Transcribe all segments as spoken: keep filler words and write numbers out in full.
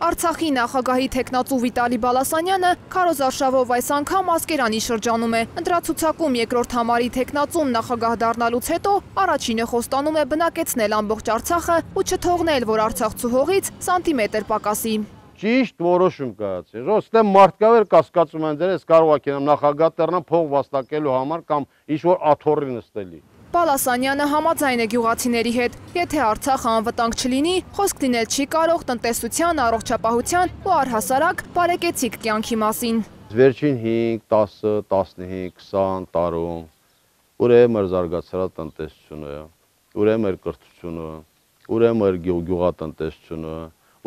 Արցախի նախագահի թեկնածու Վիտալի Բալասանյանը քարոզարշավով այս անգամ Ասկերանի շրջանում է։ Ընտրացուցակում երկրորդ համարի թեկնածուն նախագահ դառնալուց հետո առաջինը խոստանում է բնակեցնել ամբողջ Արցախը ու չթողնել, որ արցախցու հողից սանտիմետր պակասի։ Ճիշտ որոշում կայացրել։ Ոստե մարդկավեր կասկածում են դեր, ես կարող ակենամ նախագահ դառնամ փող վաստակելու համար կամ ինչ-որ աթոռի նստելի։ Բալասանյանը համաձայն է գյուղացիների հետ, եթե Արցախը անվտանգ չլինի, խոսք լինել չի կարող տնտեսության, առողջապահության ու առհասարակ բարեկեցիկ կյանքի մասին։ Վերջին հինգ, տասը, տասնհինգ, քսան տարում ուր է մեր զարգացած տնտեսությունը, ուր է մեր կրթությունը, ուր է մեր գյուղատնտեսությունը,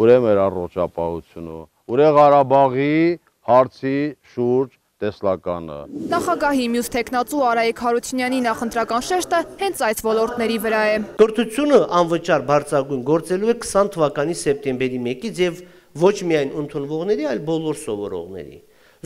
ուր է մեր առողջապահությունը, ուր է Ղարաբաղի հարցի շուրջ տեսլականը։ Նախագահի մյուս թեկնածու Արայիկ Հարությունյանի նախընտրական շեշտը հենց այս ոլորտների վրա է։ Կրթությունը անվճար բարձրագույն գործելու է քսան թվականի սեպտեմբերի մեկից եւ ոչ միայն ընդունվողների, այլ բոլոր սովորողների։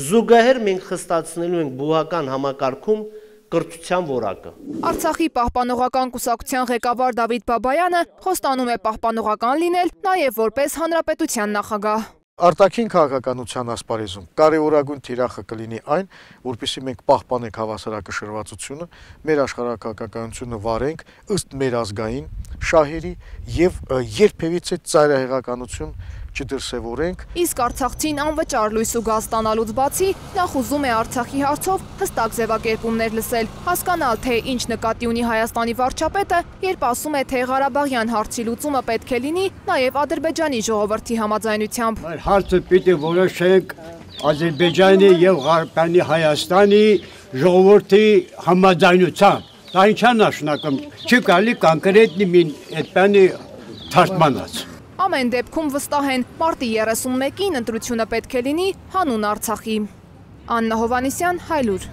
Զուգահեռ մենք խստացնելու ենք բուհական համակարգում կրթության որակը։ Արցախի պահպանողական կուսակցության ղեկավար Դավիթ Բաբայանը խոստանում է պահպանողական լինել նաև որպես հանրապետության նախագահ։ Արտաքին քաղաքականության ասպարեզում կարևորագույն թիրախը կլինի այն, որպեսզի մենք պահպանենք հավասարակշռվածությունը, մեր աշխարհակաղակականությունը վարենք ըստ մեր ազգային շահերի եւ երբևիցե ծայրահեղականություն չդրսևորենք։ Իսկ արցախցին անվճար լույս ու գազ ստանալուց բացի նախ ուզում է Արցախի հարցով հստակ ձևակերպումներ լսել, հասկանալ, թե ինչ նկատի ունի Հայաստանի վարչապետը, երբ ասում է, թե Ղարաբաղյան հարցի լուծումը պետք է լինի նաև Ադրբեջանի ժողովրդի համաձայնությամբ։ Այդ հարցը պիտի որոշենք Ադրբեջանի եւ Ղարաբաղի Հայաստանի ժողովրդի համաձայնությամբ։ Դա ինչ է նշանակում։ Չի կարելի կոնկրետ մի այդպանի թարգմանած։ Ամեն դեպքում վստահ են, մարտի երեսունմեկին ընտրությունը պետք է լինի հանուն Արցախի։ Աննա Հովանեսյան, Հայլուր։